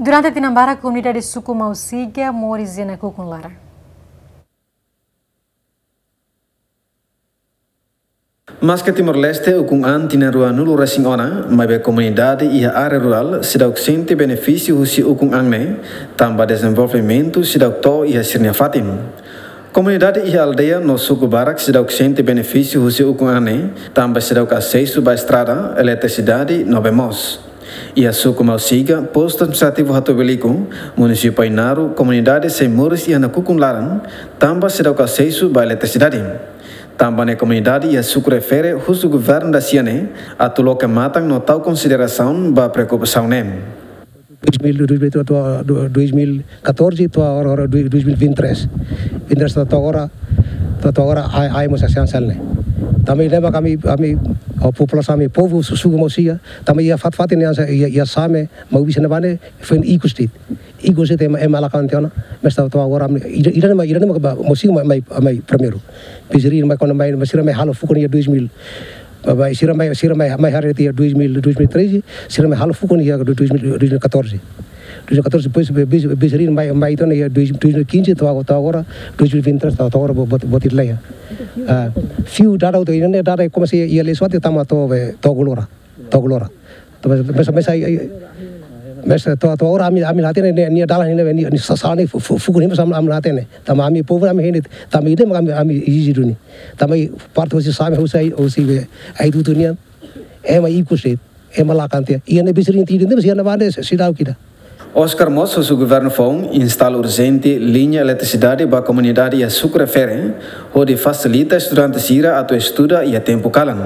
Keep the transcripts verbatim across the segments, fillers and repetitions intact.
Durante tinan barak, komunidade suku Mausiga moris iha nakukun laran. Maske Timor-Leste ukun an tinan ruanulu resin ona, maibé komunidade iha área rurál seidauk sente benefísiu husi ukun an ne'e, tanba dezenvolvimentu seidauk to'o iha sira-nia fatin. Komunidade iha aldeia no suku barak seidauk sente benefísiu husi ukun an ne'e, tanba seidauk asesu ba estrada, eletrisidade no bee moos. Iha suku Mausiga, postu administrativu Hatubuiliku, munisípiu Ainaro, komunidade sei moris iha nakukun laran, tanba seidauk asesu ba eletrisidade. Tanba ne'e komunidade iha suku refere husu governu da-sia ne'e atu loke matan no tau konsiderasaun ba preokupasaun ne'e. Dois mil, dois mil, to'o, to'o, dois mil e catorze, to'o agora, agora, dois mil e vinte e três. Vinte e três to'o agora, to'o, to'o agora, ai, ai, mós asean sel ne'e. Tanba ne'e mak ami, ami, o populasaun ami, povu su-, suku Mausiga, tanba iha fatin-fatin ne'e, iha, iha Same, Maubisse ne'ebá ne'e, foin ikus de'it. Ikus de'it ema, ema la kan tiha ona, mas to'o, to'o agora, ami, ida, ida ne'e mai, ida ne'e mai ba, Mausiga mai, mai, mai primeiru. Depois sira mai, kuandu mai, mas sira mai halo fukun iha dois mil. Ba, ba, sira mai, sira mai, mai haree tiha dois mil, dois mil e treze, sira mai halo fukun iha dois mil, dois mil e catorze. Dois mil e catorze, depois, be-, be-, be-, sira mai, mai tiha ona iha dois, dois mil e quinze, to'o, to'o agora, dois mil e vinte e três, to'o, to'o agora, bo-, bot-, botir lei. Ah, fiu dada hotu, ida ne'e dada komesa iha, iha Lesuate, tama to'o, be, to'o Golora. To'o Golora. To'o, mas, mas, mas, ai, ai, mas, to'o, to'o agora ami, ami la hatene ne'e, nia dalan ne'e, nia, nia sa-, sala ne'e fu-, fu-, fukun ne'e, mas ami, ami la hatene. Tanba ami povu ami hein de'it, tanba ida mak ami, ami ezije duni. Tanba parte husi Same, husi ai, husi be, ai tutu nian, ema ikus de'it, ema la kan tiha. Iha ne'ebé sira-nia tiha de'it, mas iha ne'ebá ne'e seidauk ida. Oscar mós husu governu foun instala urjente liña eletrisidade ba komunidade iha suku refere, hodi fasilita estudante sira atu estuda iha tempu kalan.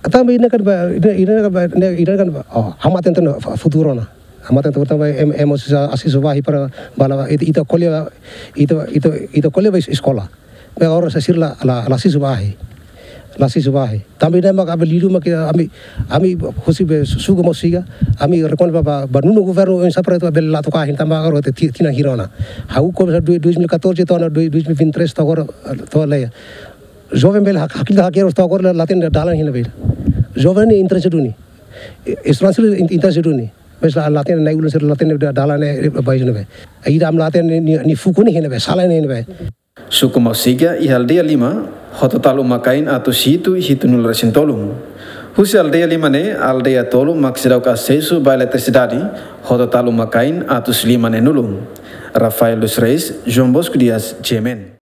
Tanba ida-ne'e kan ba, ida, ida-ne'e kan ba, ne'e, ida-ne'e kan ba, oh, ha'u hatene tiha ona fu-, futuru ona. Ha'u hatene tiha ona tanba ema, ema sira asesu ba iha para bala, ita, ita ko'alia, ita, ita, ita ko'alia ba es-, eskola. Maibé agora sira la, la, la asesu ba iha. La asesu ba iha. Tanba ne'e mak ami liu mak ami, ami husi be suku Mausiga, ami rekomenda ba, ba, ba nonu governu oinsá para atu bele la toka iha tanba agora ti-, tinan hira ona. Ha'u komesa dois, dois mil e catorze to'o ona dois, dois mil e vinte e três to'o agora, to'o lei. Joven bele hak-, hakil hakier to'o agora la, la hatene dalan iha ne'ebé. Joven ne'e interese duni. E-, estranjeiru in-, interese duni. Mas la, la hatene, na'i-ulun sira la hatene da-, dalan ne'e ba iha ne'ebé. Ida ami la hatene nia, nia fukun ne'e iha ne'ebé, sala ne'e iha ne'ebé. Suku Mausiga iha aldeia lima, hotu-hotu uma-kain atus hitu, hitunulu resin tolu. Husi aldeia lima ne'e, aldeia tolu mak seidauk asesu ba eletrisidade, hotu-hotu uma-kain atus lima neenulu. Rafael dos Reis, João Bosco Dias, G M N.